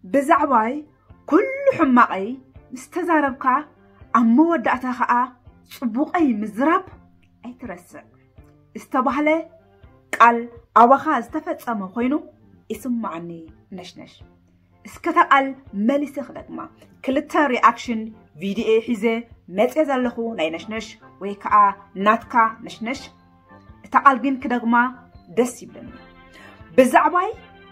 ብዛዕባይ ኩሉ ሕማቐይ ምስ ተዛረብካ፣ ኣብ መወዳእታ ኸኣ ጽቡቐይ ምዝራብ ኣይትረስዕ። ዝተባህለ ቃል ኣባኻ ዝተፈጸመ ኮይኑ ይስማዓኒ ነሽነሽ። እስከ እታ ቃል መሊሰ ክደግማ። ክልተ ሪኣክሽን ቪድዮ ሒዘ መጽየ ዘለኹ ናይ ነሽነሽ ወይ ከኣ ናትካ ነሽነሽ። እታ ቃል ግን ክደግማ ደስ ይብለኒ። ብዛዕባይ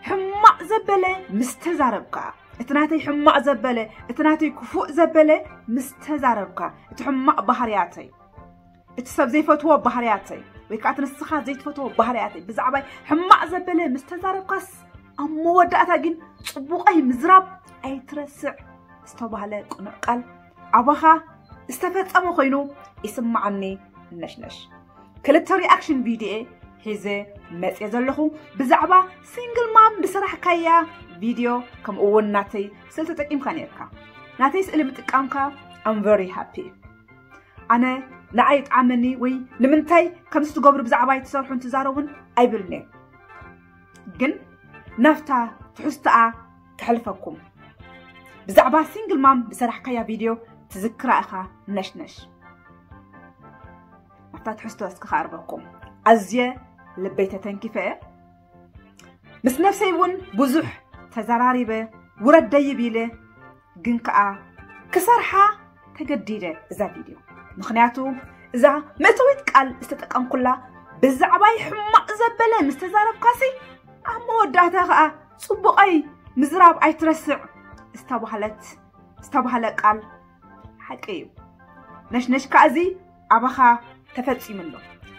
ሕማቕ ዘበለ ምስ ተዛረብካ፣ እቲ ናተይ ሕማቕ ዘበለ፣ እቲ ናተይ ክፉእ ዘበለ ምስ ተዛረብካ፣ እቲ ሕማቕ ባህርያተይ፣ እቲ ሰብ ዘይፈትዎ ባህርያተይ፣ ወይ ከዓ እቲ ንስኻ ዘይትፈትዎ ባህርያተይ ብዛዕባይ ሕማቕ ዘበለ ምስ ተዛረብካስ፣ ኣብ መወዳእታ ግን ጽቡቐይ ምዝራብ ኣይትረስዕ ዝተባህለ ቅኑዕ ቃል ኣባኻ ዝተፈጸመ ኮይኑ ይስማዓኒ ነሽነሽ። ክልተ ሪኣክሽን ቪድዮ ሒዘ መጽየ ዘለኹ ብዛዕባ ሲንግል ማም ዝሰራሕካያ ቪድዮ፣ ከምኡ እውን ናተይ ስእሊ ተጠቂምካ ነርካ። ናተይ ስእሊ ምጥቃምካ I'm very happy። ኣነ ንዓይ ይጥዓመኒ ወይ ንምንታይ ከምዚ ትገብሩ ብዛዕባይ ትሰርሑን ትዛረቡን ኣይብልን'የ። ግን ናብታ ትሕዝቶኣ ከሕልፈኩም። ብዛዕባ ሲንግል ማም ዝሰራሕካያ ቪድዮ ትዝክራ ኢኻ ነሽነሽ። ናብታ ትሕዝቶ እስከ ክኣርበኩም። ኣዝየ ልበይ ተተንኪፈ እየ። ምስ ነፍሰይ እውን ብዙሕ ተዘራሪበ፣ ውረድ ደይብ ኢለ፣ ግን ከኣ ክሰርሓ ተገዲደ እዛ ቪድዮ። ምኽንያቱ እዛ መእተዊት ቃል ዝተጠቀምኩላ ብዛዕባይ ሕማቕ ዘበለ ምስ ተዛረብካሲ፣ ኣብ መወዳእታ ከኣ ጽቡቐይ ምዝራብ ኣይትረስዕ ዝተባህለት፣ ዝተባህለ ቃል ሓቂ እዩ። ነሽነሽ ከኣ እዚ ኣባኻ ተፈጺሙ ኣሎ።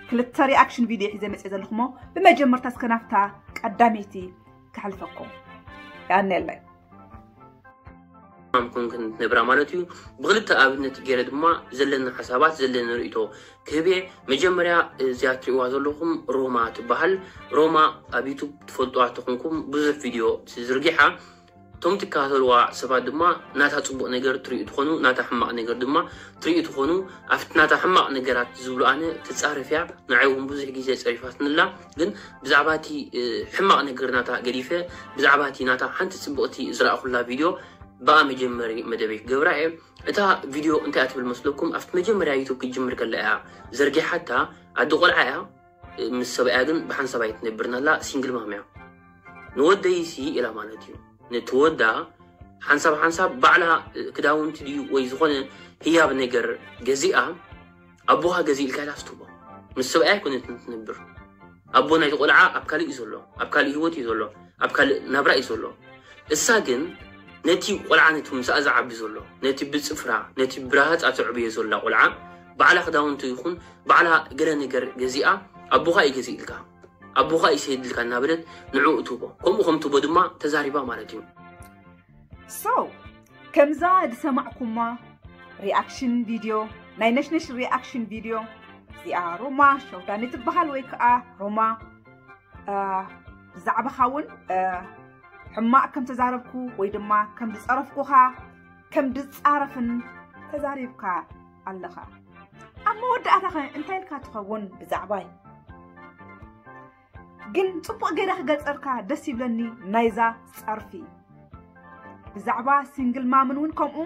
ክልተ ሪኣክሽን ቪድዮ ሒዘ መጽየ ዘለኹ እሞ፣ ብመጀመርታ እስከ ናብታ ቀዳመይቲ ከሕልፈኩም። የቐንየለይ። ማም ኮንክን ነብራ ማለት እዩ። ብክልተ ኣብነት ገይረ ድማ ዘለኒ ሓሳባት፣ ዘለኒ ርእይቶ ክህብ እየ። መጀመርያ እዚኣ ትርእይዋ ዘለኹም ሮማ ትበሃል። ሮማ ኣብ ዩቱብ ትፈልጡዋ ተኾንኩም ብዙሕ ቪድዮ ትዝርጊሓ። እቶም ትከታተልዋ ሰባት ድማ ናታ ጽቡቕ ነገር ትርእዩ ትኾኑ፣ ናታ ሕማቕ ነገር ድማ ትርእዩ ትኾኑ። ኣብቲ ናታ ሕማቕ ነገራት ዝብሉ ኣነ ትጻረፍ እያ። ንዓይ እውን ብዙሕ ግዜ ጸሪፋትንላ። ግን ብዛዕባ እቲ ሕማቕ ነገር ናታ ገዲፈ፣ ብዛዕባ እቲ ናታ ሓንቲ ጽብቕቲ ዝረኣኹላ ቪድዮ ብኣ መጀመሪ መደበይ ክገብራ እየ። እታ ቪድዮ እንታይ እያ ትብል መስለኩም? ኣብቲ መጀመርያ ዩቱብ ክትጅምር ከላ እያ ዘርጊሓታ። ኣደ ቆልዓ እያ፣ ምስ ሰብኣያ ግን ብሓንሳብ ኣይትነብርን ኣላ፣ ሲንግል ማም እያ። ንወደይሲ ኢላ ማለት እዩ። ነቲ ወዳ ሓንሳብ ሓንሳብ ባዕላ ክዳውንቲ ድዩ ወይ ዝኾነ ህያብ ነገር ገዚኣ፣ ኣቦኻ ገዚእልካ ኢላ ትህቦ። ምስ ሰብኣያ ኣይኮነትን ትነብር። ኣቦ ናይቲ ቆልዓ ኣብ ካልእ እዩ ዘሎ፣ ኣብ ካልእ ህይወት እዩ ዘሎ፣ ኣብ ካልእ ናብራ እዩ ዘሎ። እሳ ግን ነቲ ቆልዓ፣ ነቲ ምሳኣ ዝዓቢ ዘሎ፣ ነቲ ብጽፍራ፣ ነቲ ብረሃጻ ተዕብዮ ዘላ ቆልዓ፣ ባዕላ ክዳውንቲ ይኹን ባዕላ ገለ ነገር ገዚኣ፣ ኣቦኻ እዩ ገዚእልካ፣ ኣቦኻ እዩ ሰይድልካ እናበለት ንዕኡ ትህቦ። ከምኡ ከም ትህቦ ድማ ተዛሪባ ማለት እዩ። So ከምዛ ዝሰማዕኩማ ሪኣክሽን ቪድዮ፣ ናይ ነሽነሽ ሪኣክሽን ቪድዮ፣ እዚኣ ሮማ ሸውዳኒ ትበሃል ወይ ከዓ ሮማ፣ እ፣ ብዛዕባኻ እውን፣ እ፣ ሕማቕ ከም ተዛረብኩ ወይ ድማ ከም ዝጸረፍኩኻ፣ ከም ዝጻረፍን ተዛሪብካ ኣለኻ። ኣብ መወዳእታኸ እንታይ ኢልካ ትኸውን ብዛዕባይ? ግን ጽቡቕ ገይረ ክገልጸልካ ደስ ይብለኒ ናይዛ ጸርፊ። ብዛዕባ ሲንግል ማምን እውን ከምኡ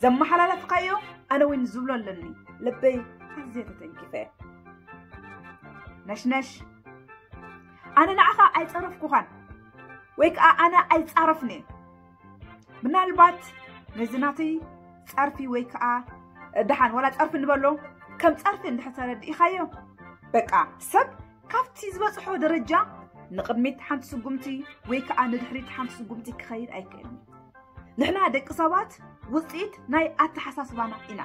ዘመሓላለፍካዮ ኣነ እውን ዝብሎ ኣለኒ። ልበይ ኣዝየ ተተንኪፈ። ነሽነሽ፣ ኣነ ንዓኻ ኣይጸረፍኩኻን ወይ ከኣ ኣነ ኣይጻረፍን እየ። ምናልባት ነዚ ናተይ ጸርፊ ወይ ከኣ ደሓን ዋላ ጸርፊ ንበሎ ከም ጸርፊ እንድሕር ተረዲእኻዮ፣ በቃ ሰብ ካብቲ ዝበጽሖ ደረጃ ንቕድሚት ሓንቲ ስጉምቲ ወይ ከኣ ንድሕሪት ሓንቲ ስጉምቲ ክኸይድ ኣይክእልን። ንሕና ደቂ ሰባት ውጽኢት ናይ ኣተሓሳስባና ኢና።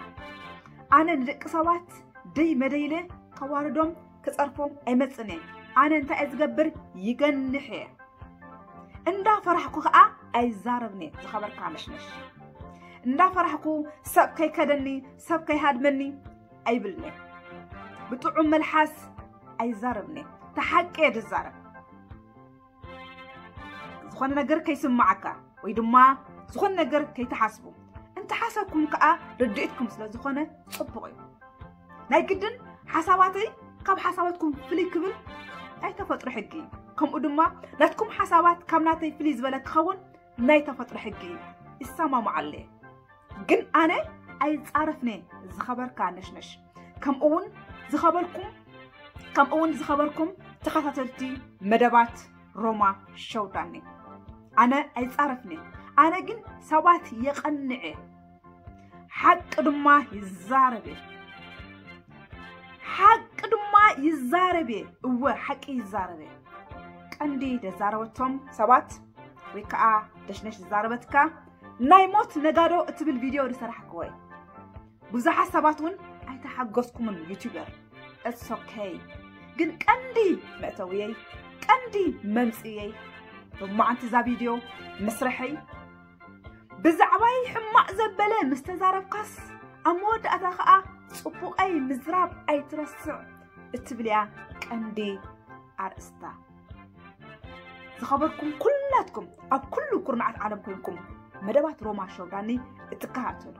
ኣነ ንደቂ ሰባት ደይ መደይለ ከዋርዶም ክጸርፎም ኣይመጽእን እየ። ኣነ እንታይ እየ ዝገብር? ይገንሕ እየ። እንዳፈራሕኩ ከኣ ኣይዛረብን እየ። ዝኸበርካ ነሽነሽ፣ እንዳፈራሕኩ ሰብ ከይከደኒ፣ ሰብ ከይሃድመኒ ኣይብልን እየ። ብጥዑም መልሓስ ኣይዛረብን እየ። ተሓቂ እየ ዝዛረብ። ዝኾነ ነገር ከይስምዓካ ወይ ድማ ዝኾነ ነገር ከይትሓስቡ፣ እንተሓሰብኩም ከኣ ርድኢትኩም ስለ ዝኾነ ጽቡቕ እዩ። ናይ ግድን ሓሳባተይ ካብ ሓሳባትኩም ፍልይ ክብል ናይ ተፈጥሮ ሕጊ እዩ። ከምኡ ድማ ናትኩም ሓሳባት ካብ ናተይ ፍልይ ዝበለ ክኸውን ናይ ተፈጥሮ ሕጊ እዩ። ይሰማማዓለ። ግን ኣነ ኣይጻረፍነ። ዝኸበርካ ነሽነሽ፣ ከምኡ እውን ዝኸበርኩም ከምኡ እውን ዝኸበርኩም ተኸታተልቲ መደባት ሮማ ሸውዳኒ፣ ኣነ ኣይጻረፍነ። ኣነ ግን ሰባት የቐንዐ፣ ሓቂ ድማ ይዛረብ እየ። ሓቂ ድማ ይዛረብ እየ። እወ፣ ሓቂ ይዛረብ እየ። ቀንዲ ደዛረበቶም ሰባት ወይ ከዓ ደሽነሽ ዝዛረበትካ ናይ ሞት ነጋዶ እትብል ቪድዮ ዝሰራሕክዎ እዩ። ብዙሓት ሰባት እውን ኣይተሓገዝኩምን ዩቲዩበር። It's okay። ግን ቀንዲ መእተውየይ፣ ቀንዲ መምፅእየይ፣ ብማዓንቲ እዛ ቪድዮ ምስርሐይ፣ ብዛዕባይ ሕማቕ ዘበለ ምስ ተዛረብካስ፣ ኣብ መወዳእታ ኸዓ ጽቡቐይ ምዝራብ ኣይትረስዕ እትብል እያ ቀንዲ ኣርእስታ። ዝኸበርኩም ኩላትኩም፣ ኣብ ኩሉ ኩርናዓት ዓለም ኮንኩም መደባት ሮማ ሸውዳኒ እትከታተሉ፣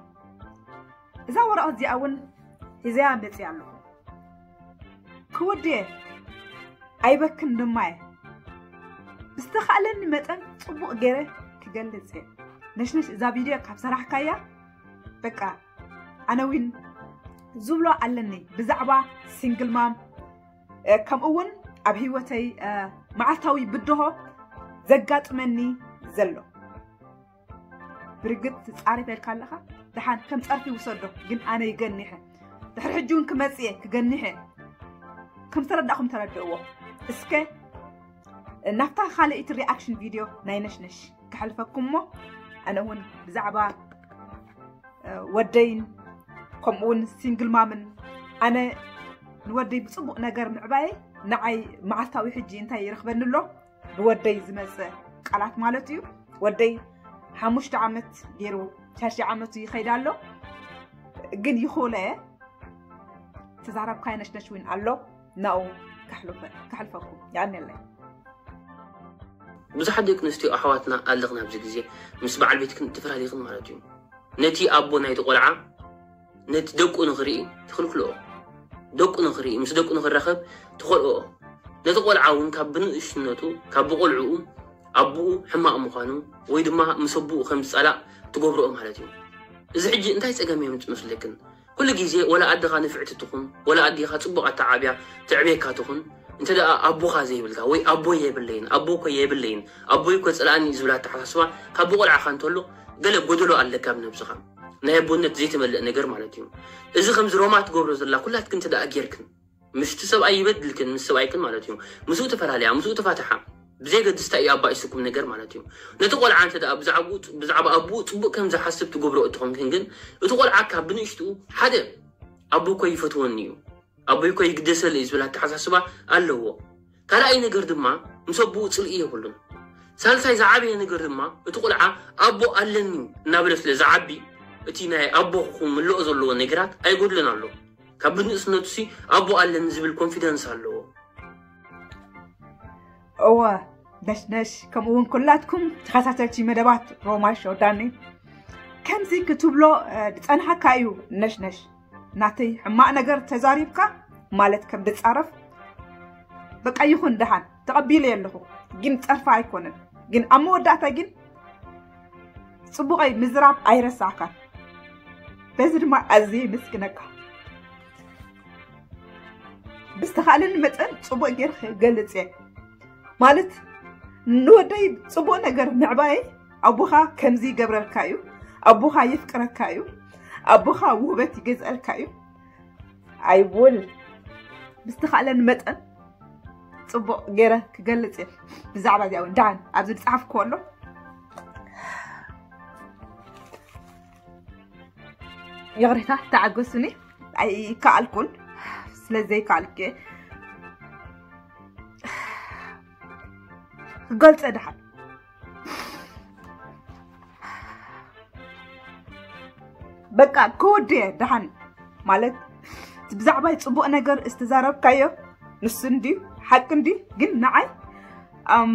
እዛ ወረቐት እዚኣ እውን ሒዘያ መፅእ ኣለኹ። ክውድየ ኣይበክን ድማ እየ። ብዝተኻእለኒ መጠን ጽቡቕ ገይረ ክገልጽ እየ። ነሽነሽ፣ እዛ ቪድዮ ካብ ሰራሕካያ፣ በቃ፣ ኣነ እውን ዝብሎ ኣለኒ ብዛዕባ ሲንግል ማም፣ እ፣ ከምኡ እውን ኣብ ህይወተይ፣ እ፣ መዓልታዊ ብድሆ ዘጋጥመኒ ዘሎ። ብርግጽ ትጻረፍ ኢልካ ኣለኻ፣ ደሓን ከም ጸርፊ ውሰዶ፣ ግን ኣነ ይገኒሐ። ድሕሪ ሕጂ እውን ክመጽእ እየ፣ ክገኒሐ። ከም ዝተረዳእኹም ተረድእዎ። እስከ ናብታ ካልኣይቲ ሪኣክሽን ቪድዮ ናይ ነሽነሽ ክሕልፈኩም እሞ፣ ኣነ እውን ብዛዕባ፣ እ፣ ወደይን ከምኡ እውን ሲንግል ማምን፣ ኣነ ንወደይ ብጽቡቕ ነገር ምዕባየይ ንዓይ መዓልታዊ ሕጂ እንታይ ይረኽበኒ ኣሎ? ብወደይ ዝመጸ ቃላት ማለት እዩ። ወደይ ሓሙሽተ ዓመት ገይሩ ሻድሻይ ዓመቱ ይኸይድ ኣሎ። ግን ይኹለ ተዛረብካይ ነሽነሽ እውን ኣሎ፣ ናኡ ከሕልፈ-፣ ከሕልፈኩም። የቐንየለይ። ብዙሓት ደቂ ኣንስትዮ ኣሕዋትና ኣለኽን ኣብዚ ግዜ ምስ በዓል ቤትክን ተፈላለኽን ማለት እዩ። ነቲ ኣቦ ናይቲ ቆልዓ፣ ነቲ ደቁ ንኽርኢ ትኽልክልኦ። ደቁ ንኽርኢ፣ ምስ ደቁ ንኽራኸብ ትኸልኦ። ነቲ ቆልዓ እውን ካብ ብንእሽነቱ፣ ካብ ብቆልዕኡ ኣቦኡ ሕማቕ ምዃኑ ወይ ድማ ምስ ኣቦኡ ከም ዝጸላእ ትገብርኦ ማለት እዩ። እዚ ሕጂ እንታይ ጸገም የምጽእ መስለክን? ኩሉ ግዜ ወላ ኣደኻ ንፍዕቲ ትኹን፣ ወላ ኣዴኻ ጽቡቕ ኣተዓብያ ትዕብየካ ትኹን፣ እንተ ደኣ ኣቦኻ ዘይብልካ ወይ ኣቦይ የብለይን፣ ኣቦ እኮ የብለይን፣ ኣቦይ እኮ ጸላእኒ እዩ ዝብል ኣተሓሳስባ ካብ ብቆልዓኻ እንተሎ፣ ገለ ጎደሎ ኣለካ ኣብ ነብስኻ። ናይ ኣቦነት ዘይተመልአ ነገር ማለት እዩ። እዚ ከምዚ ሮማ ትገብሮ ዘላ ኩላትክን እንተ ደኣ ጌርክን፣ ምስቲ ሰብኣይ ይበድልክን፣ ምስ ሰብኣይክን ማለት እዩ። ምስኡ ተፈላለያ፣ ምስኡ ተፋትሓ። ብዘየገድስ እንታይ እዩ ኣባኢሱኩም ነገር ማለት እዩ። ነቲ ቆልዓ እንተ ደኣ ብዛዕባኡ፣ ብዛዕባ ኣቦኡ ጽቡቕ ከም ዝሓስብ ትገብሮ እትኾንክን ግን፣ እቲ ቆልዓ ካብ ብንእሽትኡ ሓደ ኣቦ እኮ ይፈትወኒ እዩ፣ ኣቦይ እኮ ይግደሰለይ እዩ ዝብል ኣተሓሳስባ ኣለዎ። ካልኣይ ነገር ድማ ምስ ኣቦኡ ጽልኢ የብሉን። ሳልሳይ ዝዓበየ ነገር ድማ እቲ ቆልዓ ኣቦ ኣለኒ እናበለ ስለ ዝዓቢ፣ እቲ ናይ ኣቦ ክምልኦ ዘለዎ ነገራት ኣይጎድሎን ኣሎ። ካብ ብንእስነቱ ሲ ኣቦ ኣለኒ ዝብል ኮንፊደንስ ኣለዎ። እወ፣ ነሽነሽ፣ ከምኡ እውን ኩላትኩም ተኸታተልቲ መደባት ሮማ ሾው ዳኒ፣ ከምዚ ክትብሎ፣ እ፣ ዝጸንሓካ እዩ። ነሽነሽ፣ ናተይ ሕማቕ ነገር ተዛሪብካ ማለት ከም ድጻረፍ፣ በቃ ይኹን፣ ደሓን ተቐቢለ ኣለኹ። ግን ጸርፋ ኣይኮነን። ግን ኣብ መወዳእታ ግን ጽቡቐይ ምዝራብ ኣይረሳዕካን። በዚ ድማ ኣዝየ የመስግነካ። ብዝተኻእለኒ መጠን ጽቡቕ ጌር ክገልጽ እየ። ማለት፣ ንወደይ ጽቡቕ ነገር ምዕባየይ፣ ኣቦኻ ከምዚ ይገብረልካ እዩ፣ ኣቦኻ የፍቅረካ እዩ፣ ኣቦኻ ውህበት ይገዝአልካ እዩ። I will ብዝተኻእለኒ መጠን ጽቡቕ ጌረ ክገልጽ እየ። ብዛዕባ እዚኣ እውን ደሓን ኣብዚ ዝጸሓፍክዎ ኣሎ። ይቕሬታ፣ ተዓገሱኒ። ኣይከኣልኩን። ስለ ዘይከኣልኩ እየ ክገልጸ ደሓን። በቃ ክወዲ እየ ደሓን። ማለት፣ ብዛዕባይ ጽቡቕ ነገር ዝተዛረብካዮ ንሱ እንድዩ፣ ሓቂ እንድዩ፣ ግን ንዓይ፣ ኣም፣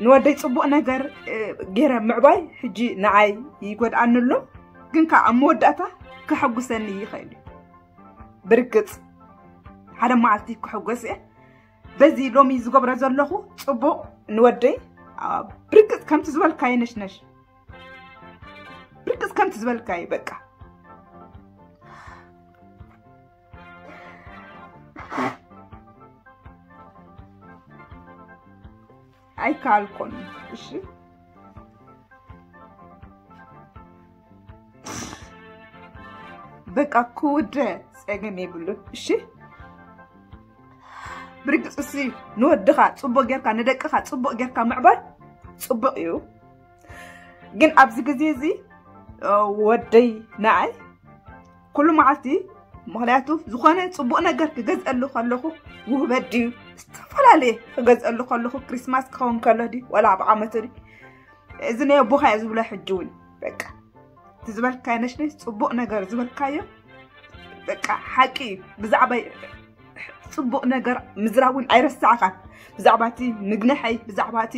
ንወደይ ጽቡቕ ነገር፣ እ፣ ገይረ ምዕባይ ሕጂ ንዓይ ይጎድኣኒ ኣሎ። ግን ከኣ ኣብ መወዳእታ ከሐጉሰኒ ይኽእል እዩ። ብርግጽ ሓደ መዓልቲ ክሕጎስ እየ። በዚ ሎሚ ዝገብሮ ዘለኹ ጽቡቕ ንወደይ ብርግጽ ከምቲ ዝበልካዮ ነሽነሽ፣ ብርግጽ ከምቲ ዝበልካዮ በቃ ኣይከኣልኩን። እሺ በቃ ክውደ ጸገም የብሉን። እሺ ብርግጽ እሲ ንወድኻ ጽቡቕ ጌርካ፣ ንደቅኻ ጽቡቕ ጌርካ ምዕባይ ጽቡቕ እዩ። ግን ኣብዚ ግዜ እዚ ወደይ ንዓይ ኩሉ መዓልቲ፣ ምኽንያቱ ዝኾነ ጽቡቕ ነገር ክገዝአሉ ከለኹ፣ ውህበት ድዩ ዝተፈላለየ ክገዝአሉ ከለኹ፣ ክሪስማስ ክኸውን ከሎ ድዩ ዋላ ኣብ ዓመት ድዩ፣ እዚ ናይ ኣቦኻ እየ ዝብሎ። ሕጂ እውን በቃ እቲ ዝበልካዮ ነሽነሽ ጽቡቕ ነገር ዝበልካዮ በቃ ሓቂ እዩ። ብዛዕባ ጽቡቕ ነገር ምዝራብ እውን ኣይረሳዕኻን። ብዛዕባ እቲ ምግንሐይ፣ ብዛዕባ እቲ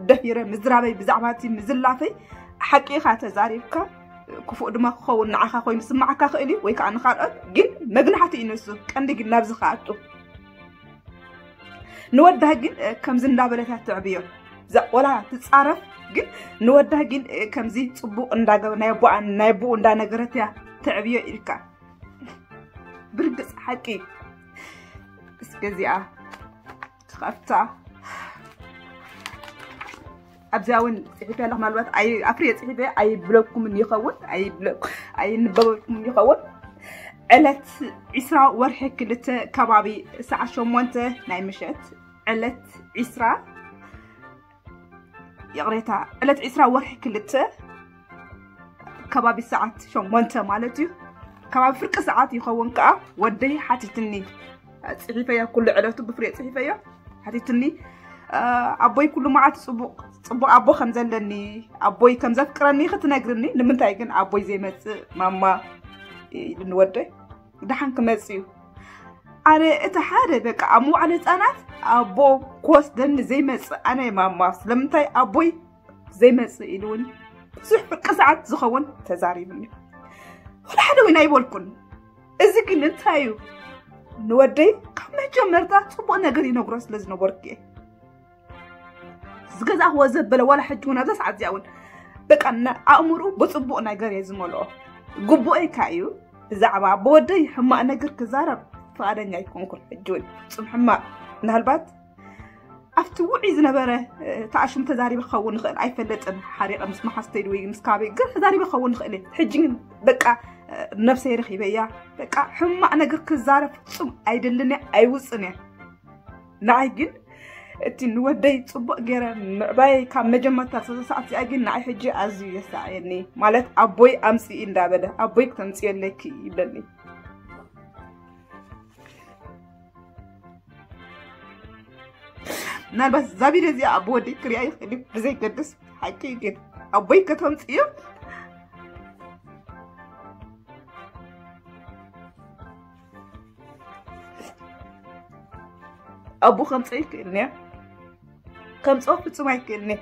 ደፊረ ምዝራበይ፣ ብዛዕባ እቲ ምዝላፈይ ሓቂ ኢኻ ተዛሪብካ። ክፉእ ድማ ክኸውን ንዓኻ ኮይኑ ስማዓካ ክእል እዩ ወይ ከዓ ንካልኦት፣ ግን መግናሕቲ እዩ ንሱ። ቀንዲ ግን ናብዚ ከኣቱ ንወዳ ግን ከምዚ እንዳበለታ ትዕብዮ፣ ወላ ትፃረፍ፣ ግን ንወዳ ግን ከምዚ ፅቡቅ እንዳገበ ናይ ኣቦኣ ናይ ኣቦኡ እንዳነገረት እያ ትዕብዮ ኢልካ። ብርግፅ ሓቂ እስከ እዚኣ ክኸፍታ። ኣብዚኣ እውን ፅሒፈ ኣለኹ። ምናልባት ኣይ- ኣፍርየ ፅሒፈ ኣይብለኩምን ይኸውን፣ ኣይብለ- ኣይንበበልኩምን ይኸውን። ዕለት ዒስራ ወርሒ ክልተ ከባቢ ሰዓት ሸሞንተ ናይ ምሸት፣ ዕለት ዒስራ፣ ይቕሬታ፣ ዕለት ዒስራ ወርሒ ክልተ ከባቢ ሰዓት ሸሞንተ ማለት እዩ። ከባቢ ፍርቂ ሰዓት ይኸውን ከዓ ወደይ ሓቲትኒ። ፅሒፈዮ፣ ኩሉ ዕለቱ ብፍርየ ፅሒፈዮ። ሓቲትኒ፣ ኣቦይ ኩሉ መዓልቲ ፅቡቕ ፅቡቕ ኣቦ ከም ዘለኒ፣ ኣቦይ ከም ዘፍቅረኒ ክትነግርኒ፣ ንምንታይ ግን ኣቦይ ዘይመፅእ ማማ ኢሉኒ ወደይ። ደሓን ክመፅእ እዩ። ኣነ እቲ ሓደ በቃ ኣብ መዋዕለ ህፃናት ኣቦ ክወስደኒ ዘይመፅእ ኣነ ማማ፣ ስለምንታይ ኣቦይ ዘይመፅእ ኢሉውን ብዙሕ ፍርቂ ሰዓት ዝኸውን ተዛሪቡኒ። ወላ ሓደ እውን ኣይበልኩን። እዚ ግን እንታይ እዩ? ንወደይ ካብ መጀመርታ ፅቡቕ ነገር ይነግሮ ስለ ዝነበርኩ እየ። ዝገዛእክዎ ዘበለ ዋላ ሕጂ እውን ኣብዛ ሰዓት እዚኣ እውን በቃ ና- ኣእምርኡ ብፅቡቕ ነገር እየ ዝመልኦ። ግቡኤካ እዩ። ብዛዕባ ኣቦ ወደይ ሕማቕ ነገር ክዛረብ ፍቓደኛ ኣይኮንኩን። ሕጂ እውን ፍፁም ሕማቕ ምናልባት ኣብቲ ውዑይ ዝነበረ ተኣሽሙ ተዛሪበ ክኸውን ይኽእል ኣይፈለጥን። ሓሪቐ ምስ መሓዝተይ ወይ ምስ ካበይ ግን ተዛሪበ ክኸውን ይኽእል እየ። ሕጂ ግን በቃ ነብሰይ ረኺበያ። በቃ ሕማቕ ነገር ክዛረብ ፍጹም ኣይደልን እየ፣ ኣይውጽን እየ። ንዓይ ግን እቲ ንወደይ ጽቡቕ ገይረ ምዕባይ ካብ መጀመርታ ሰለስተ ሰዓት እዚኣ ግን ንዓይ ሕጂ ኣዝዩ የሳዕየኒ። ማለት ኣቦይ ኣምጽኢ እንዳበለ ኣቦይ ክተምጽእለኪ ይብለኒ። ምናልባት እዛ ቪድዮ እዚኣ ኣቦ ወደይ ክሪኣ ይኽእል እዩ፣ ብዘይገድስ ሓቂ እዩ። ግን ኣቦይ ከተምፅእዮ ኣቦ ከምፅኦ ይክእልን እየ፣ ከምፅኦ ፍፁም ኣይክእልን እየ።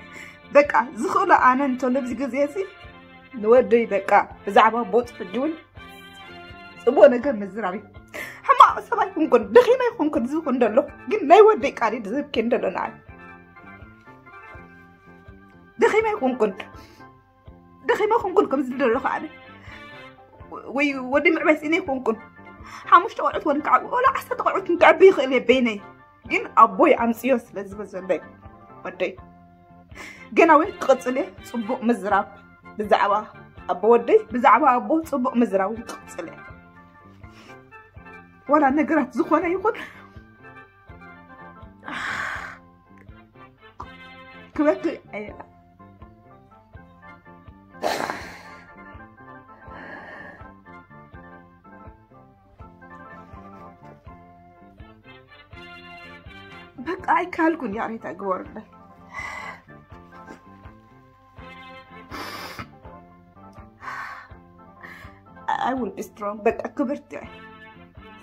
በቃ ዝኽእሎ ኣነ እንተሎ ኣብዚ ግዜ እዚ ንወደይ በቃ ብዛዕባ ኣቦ ፅሕዲ እውን ፅቡቅ ነገር ምዝራብ እዩ። ሕማቅ ሰብ ኣይኮንኩን፣ ደኺመ ኣይኮንኩን ዝብኩ እንደሎ፣ ግን ናይ ወደይ ቃል እዩ ዝህብኪ እንደሎ ንዓይ። ደኺመ ኣይኮንኩን፣ ደኺመ ኣይኮንኩን ከም ዝደሎ ከዓነ ወይ ወደይ ምዕባይ ስኢነ ኣይኮንኩን። ሓሙሽተ ቆልዑት ወን ከዓቢ ወላ ዓሰርተ ቆልዑት ክዕቢ ይኽእል እየ በይነይ፣ ግን ኣቦይ ኣምፅዮ ስለ ዝበዘለይ ወደይ ገና እውን ክቕፅል እየ። ፅቡቕ ምዝራብ ብዛዕባ ኣቦ ወደይ፣ ብዛዕባ ኣቦ ፅቡቕ ምዝራብ እውን ክቕፅል እየ። ዋላ ነገራት ዝኾነ ይኹን ክበክእ እየ። በቃ ኣይካልኩን። ያሬታ ግበሩለይ። I will be strong። በቃ ክብርቲ እየ።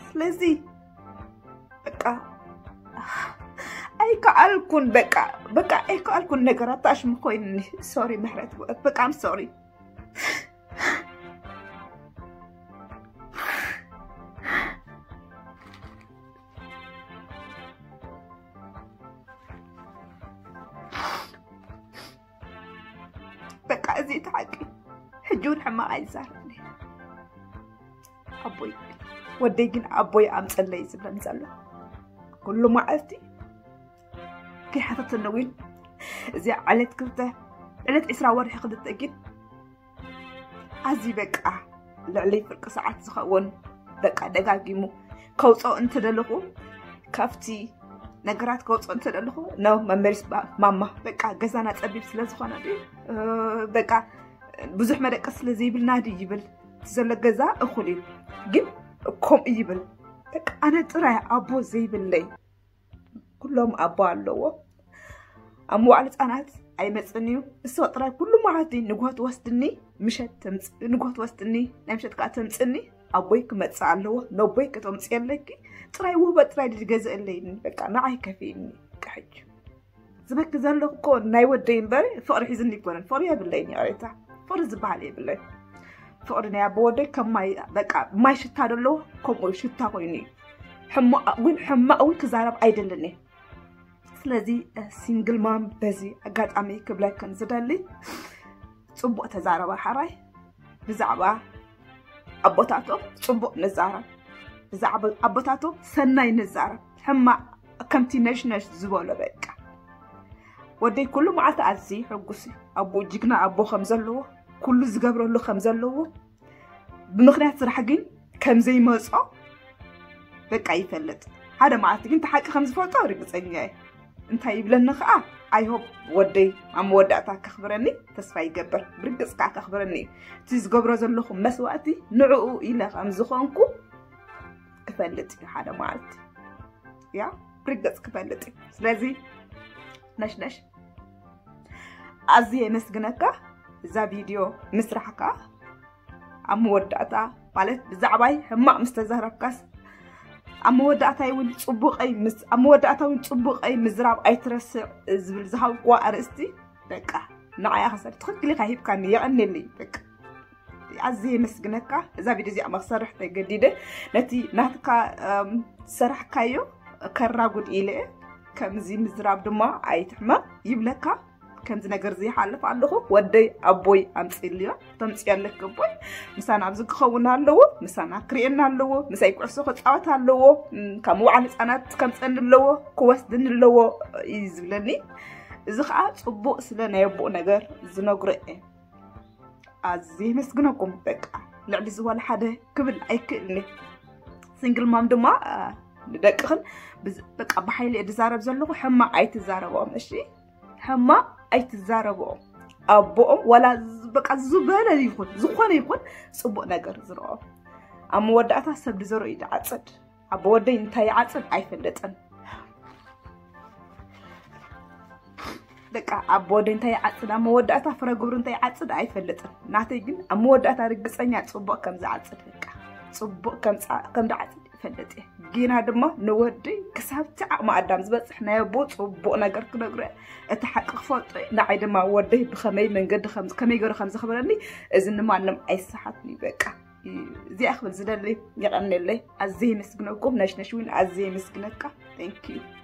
ስለዚ በቃ ኣይከኣልኩን። በቃ በቃ ኣይከኣልኩን። ነገራት ታሽሙ ኮይኑኒ። ሶሪ ምሕረት፣ በቃ I'm sorry። እዚ እቲ ሓቂ። ሕጂ እውን ሕማቕ ኣይዛረብን እየ። ኣቦይ፣ ወደይ ግን ኣቦይ ኣምፀለይ ዝብለን ዘሎ ኩሉ መዓልቲ። ከይሓተተኒ እውን እዚኣ ዕለት ክልተ፣ ዕለት ዕስራ ወርሒ ክልተ ግን ኣዚ በቃ ልዕሊ ፍርቂ ሰዓት ዝኸውን በቃ ደጋጊሙ ከውፅኦ እንተደለኹ፣ ካብቲ ነገራት ከውፅኦ እንተደለኹ፣ ኖ መመሊስ ባ- ማማ፣ በቃ ገዛና ፀቢብ ስለ ዝኾነ ድዩ፣ እ፣ በቃ ብዙሕ መደቀስ ስለ ዘይብልና ድዩ ይብል። እቲ ዘሎ ገዛ እኹል እዩ ግን ከምኡ ይብል። በቃ ኣነ ጥራይ ኣቦ ዘይብለይ፣ ኩሎም ኣቦ ኣለዎ። ኣብ መዋዕለ ህፃናት ኣይመፅን እዩ። እሱ ጥራይ ኩሉ መዓልቲ ንግሆ ትወስድኒ፣ ምሸት ተምፅ- ንግሆ ትወስድኒ፣ ናይ ምሸት ከዓ ተምፅኒ። ኣቦይ ክመፅእ ኣለዎ፣ ነቦይ ከተምፅየለኪ፣ ጥራይ ውህበት ጥራይ ድገዝእለይኒ፣ በቃ ንዓይ ከፊእኒ። በቃ ሕጂ ዝበኪ ዘለኹ እኮ ናይ ወደይ እምበር ፍቕሪ ሒዝኒ ይኮነን። ፍቕሪ የብለይን፣ ይቕሬታ፣ ፍቕሪ ዝበሃል የብለይ። ፍቕሪ ናይ ኣቦ ወደይ ከም ማይ፣ በቃ ማይ ሽታ ደለዎ፣ ከምኡ ሽታ ኮይኑ እዩ። ሕማቕ ግን፣ ሕማቕ እውን ክዛረብ ኣይደልን እየ። ስለዚ ሲንግል ማም በዚ ኣጋጣሚ ክብለክን ዝደሊ፣ ፅቡቕ ተዛረባ ሓራይ። ብዛዕባ ኣቦታቶም ፅቡቕ ንዛረብ፣ ብዛዕባ ኣቦታቶም ሰናይ ንዛረብ። ሕማቕ ከምቲ ነሽነሽ ዝበሎ በቃ። ወደይ ኩሉ መዓልቲ ኣዝዩ ሕጉስ እዩ። ኣቦ ጅግና ኣቦ ከም ዘለዎ፣ ኩሉ ዝገብረሉ ከም ዘለዎ፣ ብምኽንያት ስራሕ ግን ከም ዘይመጾ በቃ ይፈልጥ። ሓደ መዓልቲ ግን እቲ ሓቂ ከም ዝፈልጦ ርግጸኛ እየ። እንታይ ይብለኒ ኸዓ፣ ኣይ ሆፕ ወደይ ኣብ መወዳእታ ከኽብረኒ ተስፋ ይገብር። ብርግጽ ከዓ ከኽብረኒ እዩ። እቲ ዝገብሮ ዘለኹ መስዋእቲ ንዕኡ ኢለ ከም ዝኾንኩ ክፈልጥ እዩ ሓደ መዓልቲ። ያ ብርግጽ ክፈልጥ እዩ። ስለዚ ነሽነሽ ኣዝየ የመስግነካ እዛ ቪድዮ ምስራሕካ። ኣብ መወዳእታ ማለት ብዛዕባይ ሕማቕ ምስ ተዛረብካስ ኣብ መወዳእታይ እውን ጽቡቐይ ምስ ኣብ መወዳእታ እውን ጽቡቐይ ምዝራብ ኣይትረስዕ ዝብል ዝሃብክዋ ኣርእስቲ በቃ ንዓያ ከሰር ትኽክል ኢኻ ሂብካኒ፣ የቐንየለይ በቃ። ኣዝየ የመስግነካ። እዛ ቪድዮ እዚኣ መክሰርሕ ተገዲደ ነቲ ናትካ እም፣ ዝሰራሕካዮ ከራጉድ ኢለ እየ። ከምዚ ምዝራብ ድማ ኣይትሕመቕ ይብለካ። ከምዚ ነገር እዚ ይሓልፍ ኣለኹ። ወደይ ኣቦይ ኣምፅእልዮ፣ ተምፅዮ ኣለክ ኣቦይ። ምሳና ኣብዚ ክኸውን ኣለዎ፣ ምሳና ክርእየና ኣለዎ፣ ምሳይ ኩዕሶ ክፃወት ኣለዎ፣ እም፣ ካብ መዋዕለ ህፃናት ከምፀኒ ኣለዎ፣ ክወስድኒ ኣለዎ እዩ ዝብለኒ። እዚ ከዓ ፅቡቅ ስለ ናይ ኣቦኡ ነገር ዝነግሮ እየ። ኣዝየ የመስግነኩም። በቃ ልዕሊ እዚ ዋላ ሓደ ክብል ኣይክእልን እየ። ሲንግል ማም ድማ አ፣ ንደቅኽን ብዝ- በቃ ብሓይሊ እየ ዝዛረብ ዘለኹ። ሕማቕ ኣይትዛረብኦም እሺ፣ ሕማቕ ኣይትዛረብኦም። ኣቦኦም ዋላ ዝ- በቃ ዝበለ ይኹን ዝኾነ ይኹን ጽቡቕ ነገር ዝረኦም ኣብ መወዳእታ ሰብ ዝዘርኦ እዩ ዝዓጽድ። ኣቦ ወደይ እንታይ ይዓጽድ ኣይፈልጥን። በቃ ኣቦ ወደይ እንታይ ይዓጽድ ኣብ መወዳእታ ፍረ ግብሩ እንታይ ይዓጽድ ኣይፈልጥን። ናተይ ግን ኣብ መወዳእታ ርግጸኛ ጽቡቕ ከም ዝዓጽድ በቃ ጽቡቕ ከም ዝዓ- ከም ዝዓጽድ ይፈልጥ እየ። ጌና ድማ ንወደይ ክሳብ እቲ ዓቕሚ ኣዳም ዝበጽሕ ናይ ኣቦ ጽቡቕ ነገር ክነግሮ እየ። እቲ ሓቂ ክፈልጦ እየ። ንዓይ ድማ ወደይ ብኸመይ መንገዲ ከም ከመይ ገይሩ ከም ዘኽብረኒ እዚ ንማንም ኣይሰሓትን እዩ በቃ። እዚኣ ክብል ዝደሊ። የቐንየለይ። ኣዝየ የመስግነኩም። ነሽነሽ እውን ኣዝየ የመስግነካ። Thank you።